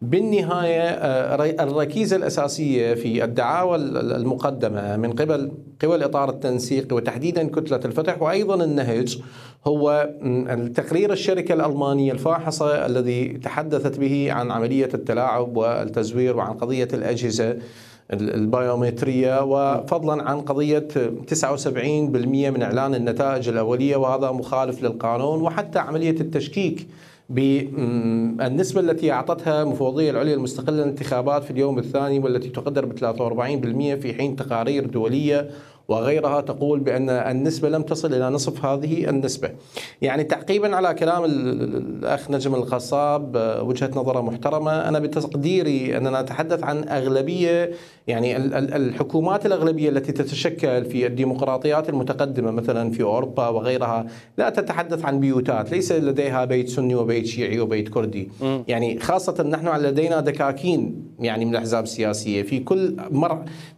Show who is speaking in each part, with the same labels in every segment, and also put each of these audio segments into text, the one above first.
Speaker 1: بالنهاية الركيزة الأساسية في الدعاوى المقدمة من قبل قوى الإطار التنسيقي وتحديدا كتلة الفتح وأيضا النهج هو تقرير الشركة الألمانية الفاحصة الذي تحدثت به عن عملية التلاعب والتزوير وعن قضية الأجهزة البيومترية، وفضلا عن قضية 79% من إعلان النتائج الأولية، وهذا مخالف للقانون، وحتى عملية التشكيك بالنسبة التي أعطتها مفوضية العليا المستقلة للانتخابات في اليوم الثاني والتي تقدر ب 43%، في حين تقارير دولية وغيرها تقول بأن النسبة لم تصل إلى نصف هذه النسبة. يعني تعقيبا على كلام الأخ نجم القصاب، وجهة نظره محترمة. أنا بتقديري أننا نتحدث عن أغلبية، يعني الحكومات الأغلبية التي تتشكل في الديمقراطيات المتقدمة مثلا في أوروبا وغيرها لا تتحدث عن بيوتات، ليس لديها بيت سني وبيت شيعي وبيت كردي. يعني خاصة نحن لدينا دكاكين يعني من الأحزاب السياسية، في كل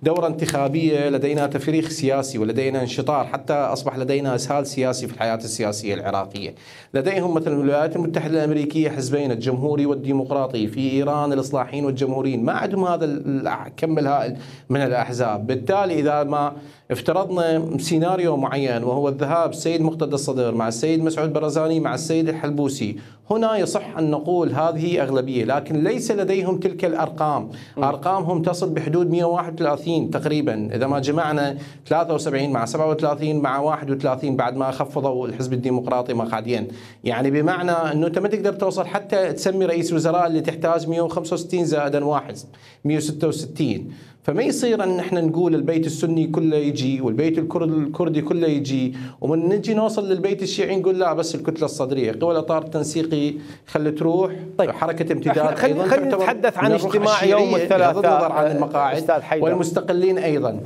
Speaker 1: دورة انتخابية لدينا تفريخ سياسي ولدينا انشطار، حتى أصبح لدينا إسهال سياسي في الحياة السياسية العراقية. لديهم مثلا الولايات المتحدة الأمريكية حزبين، الجمهوري والديمقراطي، في إيران الإصلاحيين والجمهوريين، ما عندهم هذا الكم الهائل من الأحزاب. بالتالي إذا ما افترضنا سيناريو معين وهو الذهاب السيد مقتدى الصدر مع السيد مسعود برزاني مع السيد الحلبوسي، هنا يصح أن نقول هذه أغلبية، لكن ليس لديهم تلك الأرقام. أرقامهم تصل بحدود 131 تقريبا، إذا ما جمعنا 73 مع 37 مع 31 بعد ما خفضوا الحزب الديمقراطي مقعدين. يعني بمعنى أنه أنت ما تقدر توصل حتى تسمي رئيس وزراء اللي تحتاج 165 زائدا واحد 166. فما يصير أن احنا نقول البيت السني كله يجي والبيت الكردي كله يجي، ومن نجي نوصل للبيت الشيعي نقول لا بس الكتلة الصدرية. قوى الإطار التنسيقي خلي تروح. طيب حركة امتداد
Speaker 2: خلينا نتحدث عن اجتماع يوم الثلاثاء
Speaker 1: عن المقاعد والمستقلين أيضا.